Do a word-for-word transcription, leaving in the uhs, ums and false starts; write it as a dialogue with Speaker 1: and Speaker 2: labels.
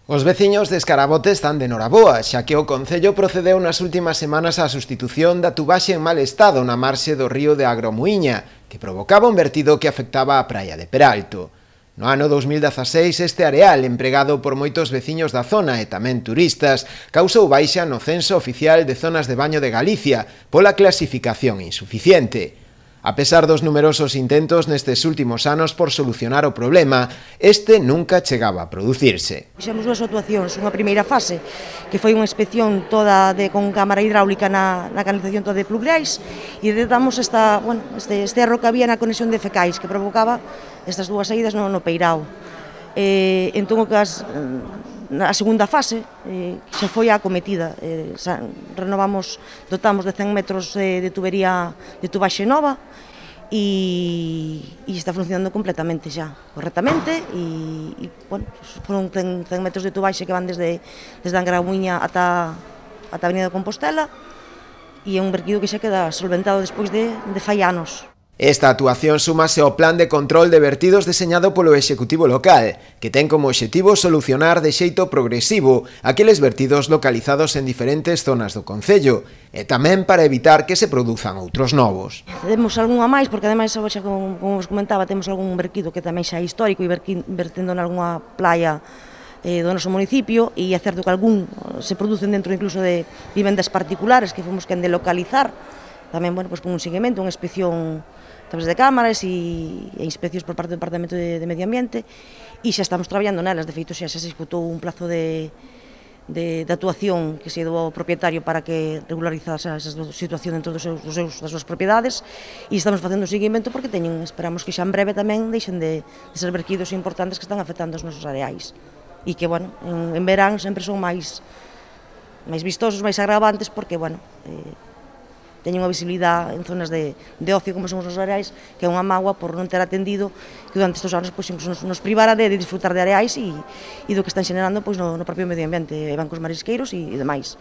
Speaker 1: Os veciños de Escarabote están de noraboa, xa que o Concello procedeu nas últimas semanas á sustitución da tubaxe en mal estado na marxe do río de Agromuíña, que provocaba un vertido que afectaba a praia de Peralto. No ano dous mil dezaseis, este areal, empregado por moitos veciños da zona e tamén turistas, causou baixa no censo oficial de zonas de baño de Galicia pola clasificación insuficiente. A pesar dos numerosos intentos nestes últimos anos por solucionar o problema, este nunca chegaba a producirse.
Speaker 2: Fixemos dúas actuacións, unha primeira fase, que foi unha inspección toda de, con cámara hidráulica na, na canalización toda de pluviais, e detectamos esta, bueno, este, este erro que había na conexión de fecais, que provocaba estas dúas saídas no, no Peirao. Eh, entón, que as, a segunda fase eh, xa foi a acometida, eh, xa, renovamos, dotamos de cen metros de, de tubería de tubaxe nova e, e está funcionando completamente xa, correctamente e, e bueno, foron cen, cen metros de tubaxe que van desde, desde Agromuíña ata, ata a Avenida de Compostela e é un verquido que xa queda solventado despois de, de fai anos.
Speaker 1: Esta actuación súmase ao plan de control de vertidos deseñado polo Executivo local, que ten como obxectivo solucionar de xeito progresivo aqueles vertidos localizados en diferentes zonas do Concello, e tamén para evitar que se produzan outros novos.
Speaker 2: Temos algunha máis, porque ademais, xa como, como vos comentaba, temos algún verquido que tamén xa é histórico e vertendo en algunha playa eh, do noso municipio, e é certo que algún se producen dentro incluso de vivendas particulares que fomos quen de localizar, tamén, bueno, pues, con un seguimento, unha inspección a través de cámaras e, e inspeccións por parte do Departamento de, de Medio Ambiente, e xa estamos traballando nelas. De feito, xa se executou un plazo de, de, de actuación que se dou ao propietario para que regularizase esa situación dentro dos seus, dos seus, das súas propiedades, e estamos facendo o seguimento porque teñen, esperamos que xa en breve tamén deixen de, de ser verquidos importantes que están afectando os nosos areais, e que, bueno, en, en verán sempre son máis, máis vistosos, máis agravantes, porque, bueno, eh, teñen unha visibilidade en zonas de, de ocio como son os areais, que é unha mágoa por non ter atendido que durante estes anos pois, nos, nos privara de, de disfrutar de areais e, e do que están xenerando pois, no, no propio medio ambiente, bancos marisqueiros e, e demais.